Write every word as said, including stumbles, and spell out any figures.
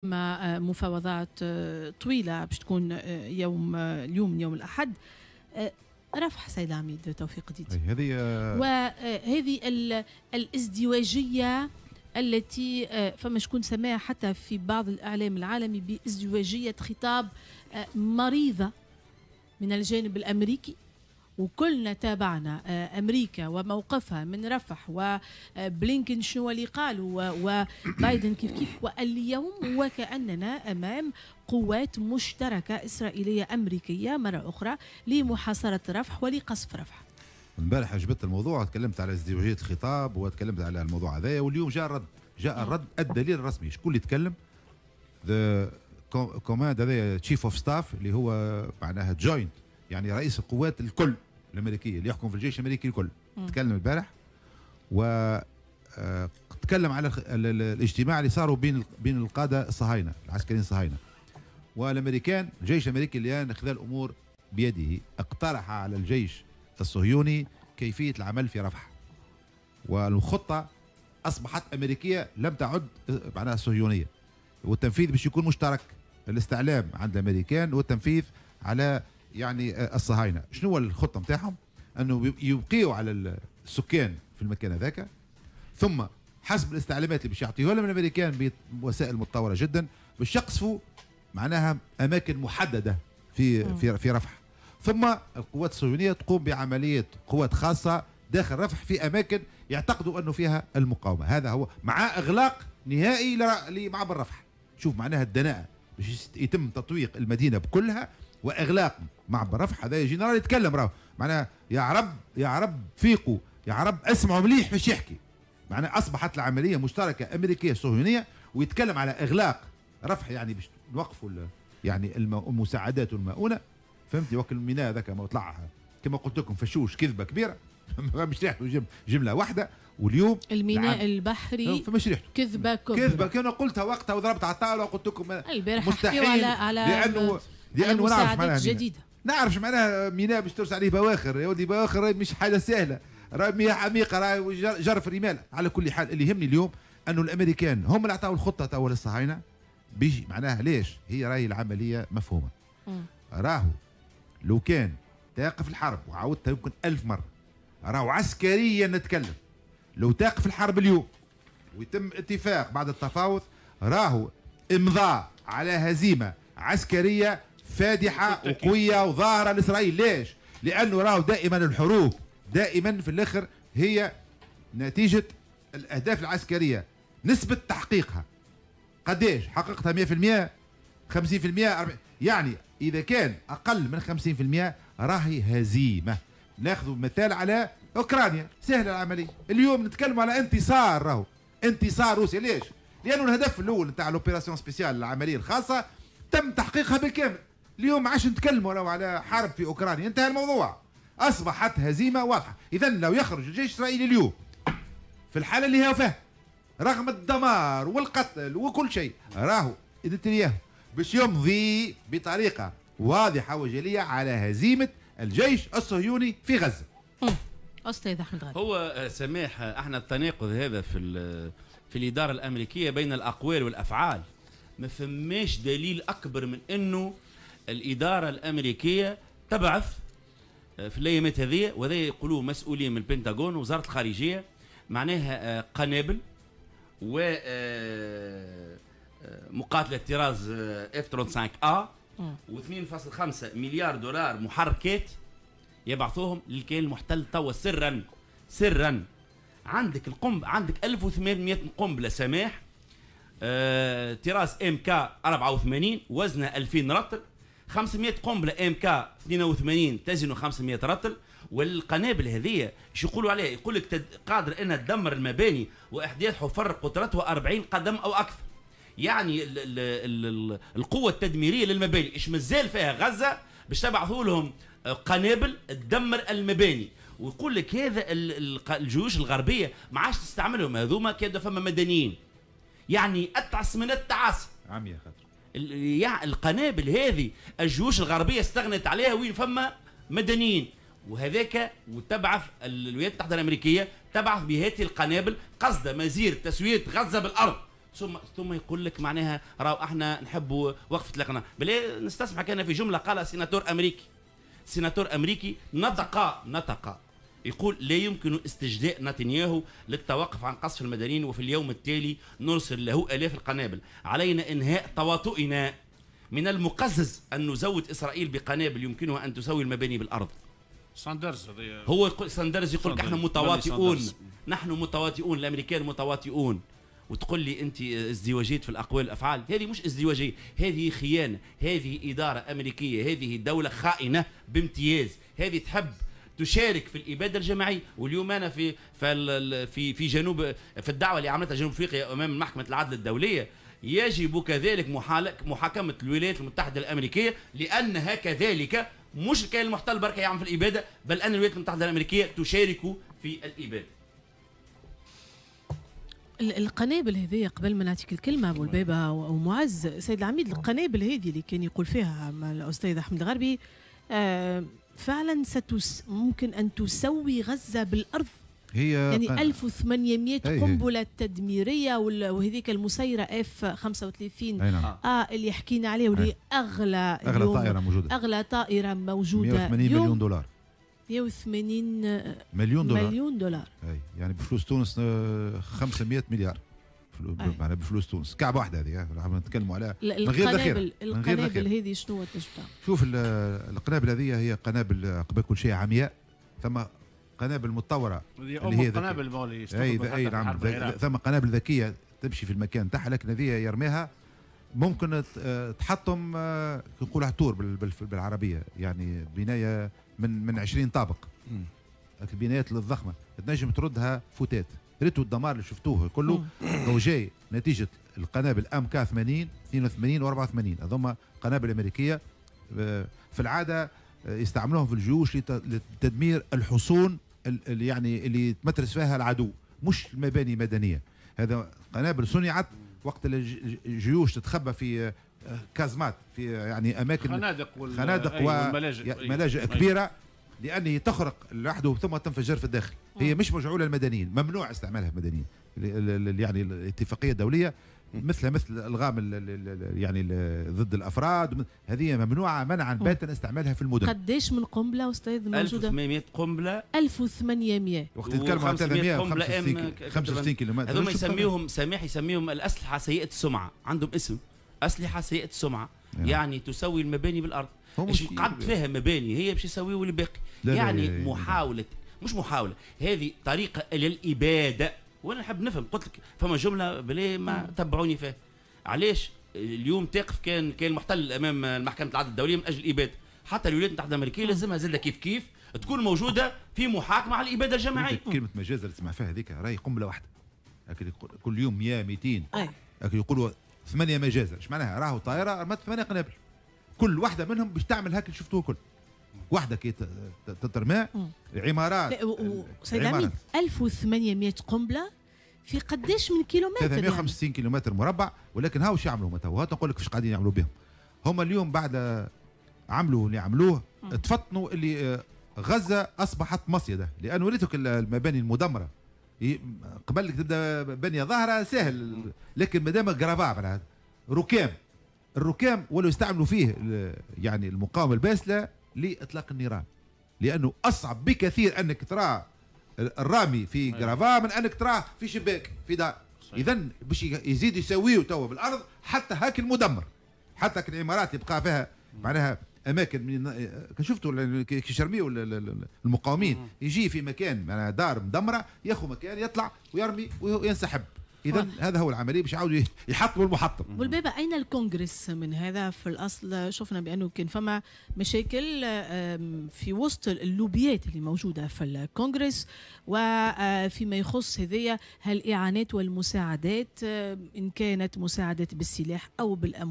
مفاوضات طويلة باش تكون يوم اليوم يوم الأحد. رفح سيد عميد توفيق ديدي، هذه وهذه الازدواجية التي فما شكون سماها حتى في بعض الإعلام العالمي بازدواجية خطاب مريضة من الجانب الأمريكي، وكلنا تابعنا أمريكا وموقفها من رفح وبلينكن شنو اللي قال وبايدن كيف كيف، واليوم وكأننا أمام قوات مشتركة إسرائيلية أمريكية مرة أخرى لمحاصرة رفح ولقصف رفح. امبارح جبت الموضوع، تكلمت على ازدواجية الخطاب وتكلمت على الموضوع هذايا، واليوم جاء الرد، جاء الرد الدليل الرسمي. شكون اللي يتكلم؟ the command هذايا chief of staff اللي هو معناها joint، يعني رئيس القوات الكل الامريكية اللي يحكم في الجيش الامريكي الكل، تكلم البارح و تكلم على الاجتماع اللي صاروا بين بين القادة الصهاينة، العسكريين الصهاينة والامريكان. الجيش الامريكي الان اخذ الامور بيده، اقترح على الجيش الصهيوني كيفية العمل في رفح، والخطه اصبحت امريكية لم تعد معناها صهيونية، والتنفيذ باش يكون مشترك، الاستعلام عند الامريكان والتنفيذ على يعني الصهاينة. شنو هو الخطة نتاعهم؟ انه يبقيوا على السكان في المكان هذاك، ثم حسب الاستعلامات اللي باش يعطيوها لهم الامريكان بوسائل متطورة جدا باش يقصفوا معناها اماكن محددة في في في رفح، ثم القوات الصهيونية تقوم بعملية قوات خاصة داخل رفح في اماكن يعتقدوا انه فيها المقاومة. هذا هو، مع اغلاق نهائي لمعبر رفح. شوف معناها الدناءة باش يتم تطويق المدينة بكلها واغلاق معبر رفح. هذا جنرال يتكلم راهو، معناها يا عرب يا عرب فيقوا، يا عرب اسمعوا مليح باش يحكي. معناها اصبحت العملية مشتركة امريكية صهيونية، ويتكلم على اغلاق رفح يعني باش نوقفوا يعني المساعدات والمؤونه، فهمتي؟ وكل الميناء هذاك ما طلع كما قلت لكم فشوش، كذبه كبيرة مش ريحته جملة واحدة. واليوم الميناء البحري فمش ريحته كذبه كبرى، كذبه كما قلتها وقتها وضربت على الطاولة وقلت لكم البارح مستحيل، على على لانه لانه نعرف معناها جديدة، نعرف معناها ميناء باش ترسل عليه بواخر يا ولدي، بواخر مش حاجة سهلة، راه مياه عميقة، راه جرف رمال. على كل حال اللي يهمني اليوم انه الامريكان هم اللي عطاو الخطة توا للصهاينه بيجي معناها ليش هي راهي العملية مفهومه. راهو لو كان تقف الحرب، وعاودتها يمكن ألف مرة، راهو عسكريا نتكلم، لو تقف الحرب اليوم ويتم اتفاق بعد التفاوض، راهو امضاء على هزيمة عسكرية فادحة وقويه وظاهره لاسرائيل. ليش؟ لانه راهو دائما الحروب دائما في الاخر هي نتيجة الاهداف العسكرية، نسبه تحقيقها قداش؟ حققتها مية بالمية، خمسين بالمية، أربعين، يعني اذا كان اقل من خمسين بالمية راهي هزيمة. ناخذ مثال على اوكرانيا، سهلة العملية. اليوم نتكلم على انتصار، راهو انتصار روسيا. ليش؟ لانه الهدف الاول نتاع l'opération spéciale، العملية الخاصة، تم تحقيقها بالكامل. اليوم ما عادش نتكلموا راهو على حرب في اوكرانيا، انتهى الموضوع، اصبحت هزيمة واضحة. اذا لو يخرج الجيش الاسرائيلي اليوم في الحالة اللي هي فيها رغم الدمار والقتل وكل شيء، راهو نتنياهو باش يمضي بطريقة واضحة وجليه على هزيمة الجيش الصهيوني في غزة. استاذ احمد غالي، هو سماح احنا التناقض هذا في في الادارة الامريكية بين الاقوال والافعال، ما فماش دليل اكبر من انه الادارة الامريكية تبعث في الايامات هذه، وهذا يقولوه مسؤولين من البنتاغون ووزارة الخارجية، معناها قنابل و مقاتله طراز F خمسة وثلاثين A واثنين فاصل خمسة مليار دولار محركات يبعثوهم للكيان المحتل توا سرا سرا. عندك القنب، عندك ألف وثمانمئة قنبلة سماح آه، طراز MK أربعة وثمانين وزنها ألفين رطل، خمسمئة قنبلة MK اثنين وثمانين تزن خمسمئة رطل. والقنابل هذه شو يقولوا عليها؟ يقول لك تد... قادر انها تدمر المباني واحداث حفر قطرتها أربعين قدم او اكثر. يعني ال ال ال القوة التدميرية للمباني، ايش مازال فيها غزة باش تبعثوا لهم قنابل تدمر المباني؟ ويقول لك هذا الجيوش الغربية ما عادش تستعملهم هذوما، كان فما مدنيين. يعني اتعس من التعاسة. عمية خاطر. يعني القنابل هذه الجيوش الغربية استغنت عليها وين فما مدنيين، وهذاك وتبعث الولايات المتحدة الامريكية تبعث بهذه القنابل قصد مزير تسويه غزة بالارض. ثم ثم يقول لك معناها راهو احنا نحبوا وقفه الاقناع. بلا نستسمح كان في جملة قالها سيناتور امريكي، سيناتور امريكي نطق نطق يقول لا يمكن استجداء نتنياهو للتوقف عن قصف المدنيين، وفي اليوم التالي نرسل له آلاف القنابل. علينا إنهاء تواطؤنا، من المقزز أن نزود إسرائيل بقنابل يمكنها أن تسوي المباني بالأرض. ساندرز هو يقول، ساندرز يقول لك احنا متواطئون، نحن متواطئون، الأمريكان متواطئون. وتقول لي أنت ازدواجية في الأقوال والأفعال، هذه مش ازدواجية، هذه خيانة، هذه إدارة أمريكية، هذه دولة خائنة بامتياز، هذه تحب تشارك في الابادة الجماعية. واليوم انا في في في جنوب في الدعوة اللي عملتها جنوب افريقيا امام محكمة العدل الدولية، يجب كذلك محاكمة الولايات المتحدة الامريكية، لانها كذلك مش الكيان المحتل بركة يعمل في الابادة، بل ان الولايات المتحدة الامريكية تشارك في الابادة. القنابل هذه قبل ما نعطيك الكلمة ابو البابا ومعز، سيد العميد، القنابل هذه اللي كان يقول فيها الاستاذ احمد الغربي آه فعلا ستس ممكن ان تسوي غزة بالارض. هي يعني ألف وثمانمئة قنبلة تدميريه، وهذيك المسيرة اف خمسة وثلاثين اه اللي حكينا عليه، واللي اغلى اغلى طائره موجودة، اغلى طائره موجودة، مئة وثمانين مليون دولار، مئة وثمانين مليون دولار، مليون دولار اي يعني بفلوس تونس خمسمئة مليار معناها بفلوس تونس، كعبه واحدة هذه نتكلموا عليها من غير ذخيرة. القنابل هذه شنو تنجم تعمل؟ شوف القنابل هذه هي قنابل قبل كل شيء عمياء، ثم قنابل متطورة اللي هي قنابل مولي اي اي نعم، ثم قنابل ذكية تمشي في المكان تاعها، لكن هذه يرميها ممكن تحطم نقولها tour بالعربية، يعني بناية من من عشرين طابق، البنايات الضخمة تنجم تردها فتات. ريتوا الدمار اللي شفتوه كله هو جاي نتيجة القنابل MK ثمانين اثنين وثمانين وأربعة وثمانين، هذوما قنابل امريكية في العادة يستعملوهم في الجيوش لتدمير الحصون اللي يعني اللي تمترس فيها العدو، مش المباني مدنية. هذا قنابل صنعت وقت الجيوش تتخبى في كازمات، في يعني اماكن خنادق وال... خنادق وملاجئ ملاجئ كبيرة، لأنه تخرق لوحده ثم تنفجر في الداخل. هي مش مجعولة للمدنيين، ممنوع استعمالها المدنيين، يعني الاتفاقية الدولية مثلها مثل الألغام يعني ضد الأفراد، هذه ممنوعة منعا باتا استعمالها في المدن. قداش من قنبلة أستاذ موجودة؟ ألف وثمانمئة قنبلة. ألف وثمانمئة وقت يتكلموا على ثلاثمئة وخمسة وستين كيلومتر. هذوما يسميهم سامح يسميهم الأسلحة سيئة السمعة، عندهم اسم أسلحة سيئة السمعة، يعني تسوي المباني بالأرض. مش قعد فيها مباني هي باش يسويوا الباقي. يعني لا لا لا محاولة، مش محاولة، هذه طريقة للإبادة. وانا نحب نفهم، قلت لك فما جملة بلي ما تبعوني فيها. علاش اليوم تقف كان كان المحتل امام محكمة العدل الدولية من اجل الإبادة؟ حتى الولايات المتحدة الأمريكية لازمها زادة كيف كيف تكون موجودة في محاكمة على الإبادة الجماعية. كلمة مجازر اللي تسمع فيها هذيك راهي قنبلة واحدة، لكن كل يوم مئة مئتين، لكن يقولوا ثمانية مجازر، ايش معناها؟ راهو طائرة رمت ثمانية قنابل، كل واحدة منهم باش تعمل هاك اللي شفتوه كل واحدة كي تترمى عمارات. سيد عميد، ألف وثمانمئة قنبلة في قداش من كيلومتر؟ ثلاثمئة وخمسة وستين كيلومتر مربع. ولكن هاو شو يعملوا هما؟ نقول لك فاش قاعدين يعملوا بهم هما اليوم. بعد عملوا اللي عملوه تفطنوا اللي غزة أصبحت مصيدة، لأنه وليتك المباني المدمرة قبل تبدا بنية ظاهرة سهل، لكن ما دام gravats معناها ركام، الركام ولو يستعملوا فيه يعني المقاومة الباسلة لإطلاق النيران، لأنه أصعب بكثير أنك ترى الرامي في gravats من أنك تراه في شباك في دار. إذا باش يزيد يسويه توا بالأرض حتى هاك المدمر، حتى العمارات يبقى فيها معناها اماكن من شفتوا كي يرميوا المقاومين يجي في مكان معناها دار مدمرة، ياخذ مكان يطلع ويرمي وينسحب. اذا هذا هو العملية باش يعاودوا يحطموا المحطم. والبابا اين الكونغرس من هذا؟ في الاصل شفنا بانه كان فما مشاكل في وسط اللوبيات اللي موجودة في الكونغرس، وفيما يخص هذيا هالاعانات والمساعدات، ان كانت مساعدات بالسلاح او بالاموال.